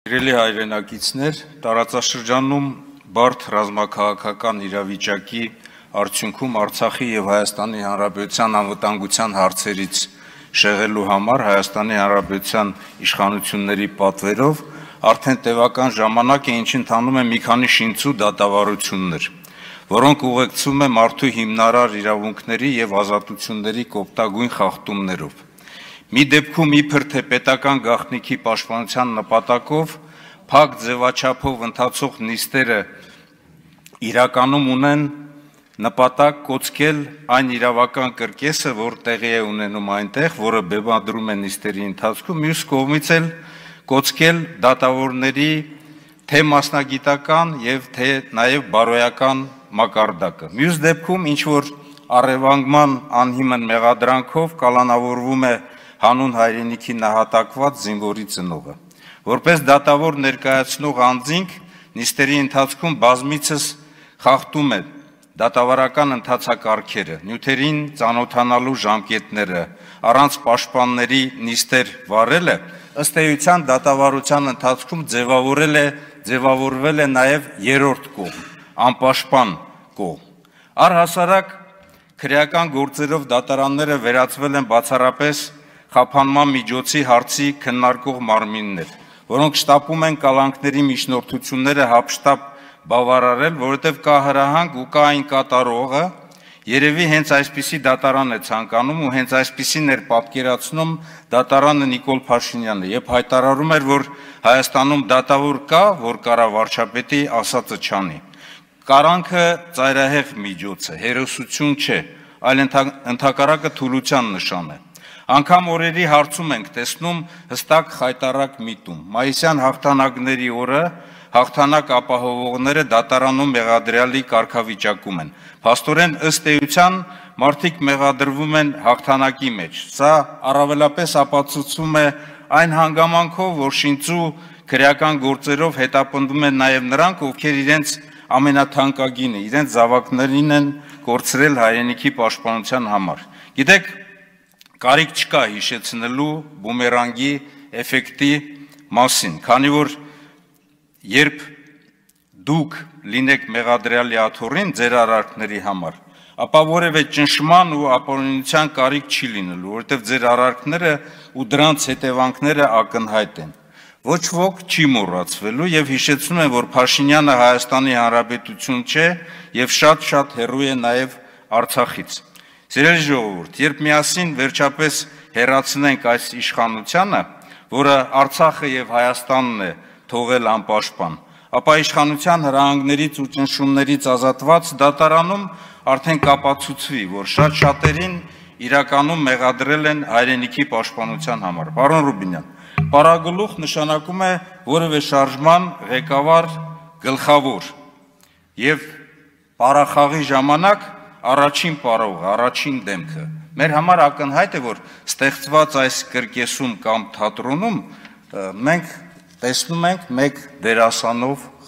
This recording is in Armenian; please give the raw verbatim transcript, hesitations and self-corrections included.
Սիրելի հայրենակիցներ, տարածաշրջանում բարդ ռազմաքաղաքական իրավիճակի արդյունքում Արցախի և Հայաստանի Հանրապետության անվտանգության հարցերից շեղելու համար Հայաստանի Հանրապետության իշխանությունների պատվերով արդեն տևական ժամանակ է, ինչ ընթանում է մի քանի շինծու դատավարություններ, որոնք ուղեկցվում են մարդու հիմնարար իրավունքների և ազատությունների կոպտագույն խախտումներով։ Մի դեպքում իբր թե պետական գաղտնիքի պաշտպանության նպատակով փակ ձևաչափով ընթացող նիստերը իրականում ունեն նպատակ կոծկել այն իրավական կրկեսը, որ տեղի է ունենում այնտեղ, որը բեմադրում է նիստերի ընթացքում, մյուս կողմից էլ կոծկել դատավորների թե մասնագիտական և թե նաև բարոյական մակարդակը։ Մյուս դեպքում ինչ որ առևանգման անհիմն մեղադրանքով կալանավորվում է հանուն հայրենիքի նահատակված զինվորի ծնողը։ Որպես դատավոր ներկայացնող անձինք նիստերի ընթացքում բազմիցս խախտում է դատավարական ընթացակարգերը, նյութերին ծանոթանալու ժամկետները, առանց պաշտպանների նիստեր վարելը, ըստ էության դատավարության ընթացքում ձևավորել է, ձևավորվել է նաև երրորդ կողմ, անպաշտպան կողմ։ Առհասարակ քրեական գործերով դատարանները վերածվել են բացառապես խափանման միջոցի հարցի քննարկող մարմիններ, որոնք շտապում են կալանքների միջնորդությունները հափշտապ բավարարել, որովհետև կա հրահանգ ու կա այն կատարողը, երևի հենց այսպիսի դատարան է ցանկանում ու հենց այսպիսին էր պատկերացնում դատարանը Նիկոլ Փաշինյանը, երբ հայտարարում էր, որ Հայաստանում դատավոր կա, որ կարա վարչապետի ասածը չանի։ Կալանքը ծայրահեղ միջոց է, հերոսություն չէ, այլ ընդհակառակը թուլության նշան է։ Անգամ օրերի հարցում ենք տեսնում հստակ խայտառակ միտում։ Մայիսյան հաղթանակների օրը հաղթանակ ապահովողները դատարանում մեղադրյալի կարգավիճակում են։ Փաստորեն ըստ էության մարդիկ մեղադրվում են հաղթանակի մեջ։ Սա առավելապես ապացուցվում է այն հանգամանքով, որ շինծու քրեական գործերով հետապնդվում են նաև նրանք, ովքեր իրենց ամենաթանկագինը, իրենց զավակներին են կորցրել հայրենիքի պաշտպանության համար։ Գիտեք, կարիք չկա հիշեցնելու բումերանգի էֆեկտի մասին, քանի որ երբ դուք լինեք մեղադրյալի աթոռին ձեր արարքների համար, ապա որևէ ճնշման ու ապօրինության կարիք չի լինելու, որովհետև ձեր արարքները ու դրանց հետևանքները ակնհայտ են։ Ոչ ոք չի մոռացվելու եւ հիշեցնում են, որ Փաշինյանը Հայաստանի Հանրապետություն չէ եւ շատ-շատ հեռու է նաեւ Արցախից։ Սիրելի ժողովուրդ, երբ միասին վերջապես հեռացնենք այս իշխանությանը, որը Արցախը եւ Հայաստանն է թողել անպաշտպան, ապա իշխանության հրահանգներից ու ճնշումներից ազատված դատարանում արդեն կապացուցվի, որ շատ շատերին իրականում մեղադրել են հայրենիքի պաշտպանության համար։ Պարոն Ռուբինյան, պարագլուխ նշանակում է որևէ շարժման ղեկավար գլխավոր եւ պարախաղի ժամանակ առաջին պարողը, առաջին դեմքը։ Մեր համար ակնհայտ է, որ ստեղծված այս կրկեսում կամ թատրոնում մենք տեսնում ենք մեկ դերասանով